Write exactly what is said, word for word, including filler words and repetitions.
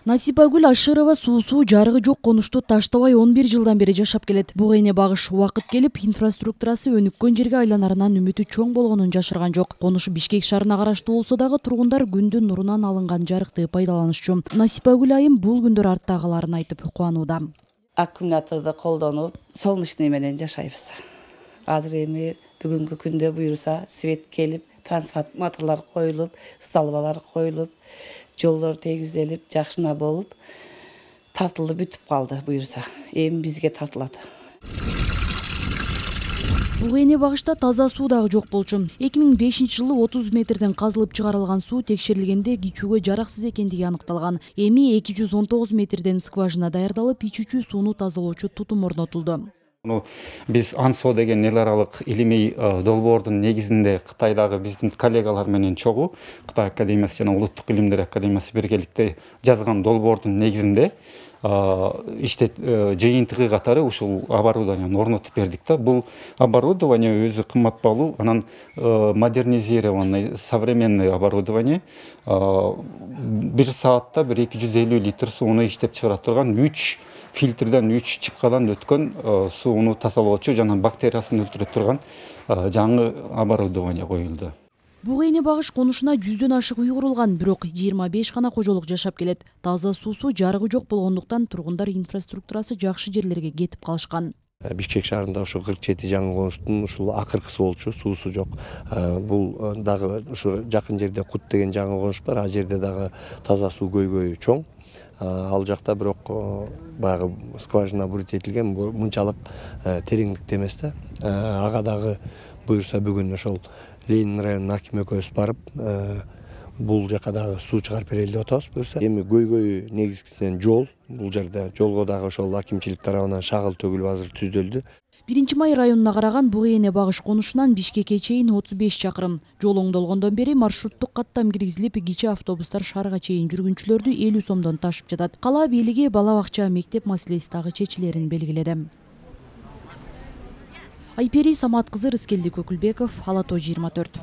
Насипагүл Ашырова суусу жарыгы жок конушту таштабай он бир жылдан бери жашап келет. Буга эне багыш убакыт келип, инфраструктурасы өнүккөн жерге айланарынан үмүтү чоң болгонун жашырган жок. Конуш Бишкек шаарына караштуу болсо дагы тургундар күндүн нурунан алынган жарыкты пайдаланышчу. Насипагүл айым бул күндөр арттагыларын айтып кубанууда. Аккумуляторду колдонуп, солнечный менен жашайбыз. Азыр эми бүгүнкү күндө буюрса свет келип, трансформаторлор коюлуп, столбалар коюлуп, жолдор тегизделип, жакшына болуп, тартылып бүтүп калды буюрса. Эми бизге тартылат. Бул эне багышта таза суу дагы жок болчу. эки миң бешинчи жылы отуз метрден казылып чыгарылган суу текшерилгенде кичүүгө жараксыз экендиги аныкталган. Эми эки жүз он тогуз метрден скважина даярдалып, ичүүчү сууну тазалоочу тутум орнотулду. Биз ансо деген эл аралык илимий долбоордун негизинде Кытайдагы биздин коллегалар менен чогуу Кытай академиясы жана Улуттук илимдер академиясы биргеликте жазган долбоордун негизинде иштет жыйынтыгы катары ушул оборудованияны орнотуп бердик да. Бул оборудование өзү кымбат баалуу, анан модернизированный современный оборудование. Бир саатта бир эки жүз элүү литр сууну иштеп чыгара турган үч фильтрден, үч чыпкадан өткөн сууну тазалоочу жана бактериясын өлтүрө турган жаңы оборудование коюлду. Буга эне багыш конушуна жүздөн ашык үй курулган, бирок жыйырма беш гана кожолук жашап келет. Таза суусу, жарыгы жок болгондуктан тургундар инфраструктурасы жакшы жерлерге кетип калышкан. Бишкек шаарында ошо кырк жети жаңы конуштун ушул акыркысы болчу, суусу жок. Бул дагы ушу жакын жерде Кут деген жаңы конуш бар, ал жерде дагы таза суу көйгөйү чоң. Ал жакта бирок баягы скважина бурут этилген, мынчалык тереңдикте эмес да. Ага дагы буюрса бүгүн ошол Ленин районунун акими экөөбүз барып, бул жака дагы суу чыгарып берели деп атабыз буюрса. Эми көйгөйү негизгисинен жол, бул жерде жолго дагы ошол акимчилик тарабынан шагыл төгүлүп азыр түздөлдү. биринчи май районуна караган Буга эне багыш конушунан Бишкекке чейин отуз беш чакырым. Жол оңдолгондон бери маршруттук каттам киргизилип, кичи автобустар шаарга чейин жүргүнчүлөрдү элүү сомдон ташып жатат. Кала бийлиги бала бакча, мектеп маселеси дагы чечилерин белгиледи. Айпери Самат кызы, Рыскелди Көкүлбеков, Ала Тоо жыйырма төрт.